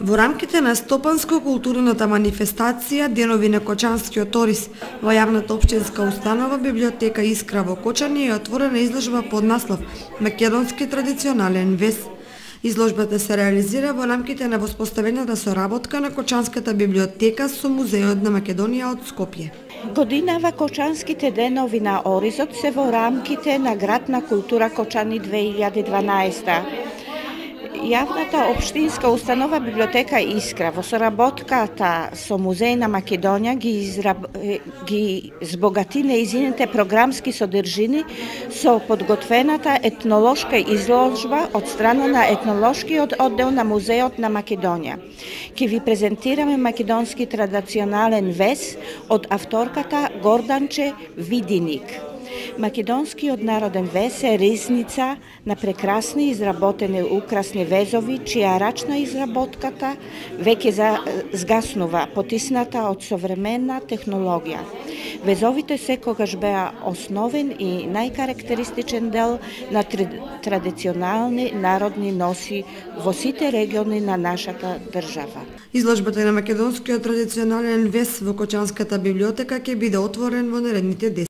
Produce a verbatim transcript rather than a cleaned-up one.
Во рамките на стопанско-културната манифестација Денови на кочанскиот ориз во јавната општинска установа Библиотека Искра во Кочани е отворена изложба под наслов Македонски традиционален вез. Изложбата се реализира во рамките на воспоставената соработка на Кочанската библиотека со Музеот на Македонија од Скопје. Годинава Кочанските денови на оризот се во рамките на Градна култура Кочани две илјади и дванаесета. Јавната општинска установа Библиотека Искра во соработката со Музеј на Македонија ги, израб... ги збогати неизините програмски содржини со подготвената етнолошка изложба од страна на етнолошкиот оддел на Музеот на Македонија. Ке ви презентираме македонски традиционален вез од авторката Горданче Видиник. Македонскиот народен вез е ризница на прекрасни изработени украсни везови, чија рачна изработката веќе згаснува, потисната од современна технологија. Везовите секогаш беа основен и најкарактеристичен дел на традиционални народни носи во сите региони на нашата држава. Изложбата на македонскиот традиционален вез во Кочанската библиотека ќе биде отворен во наредните десет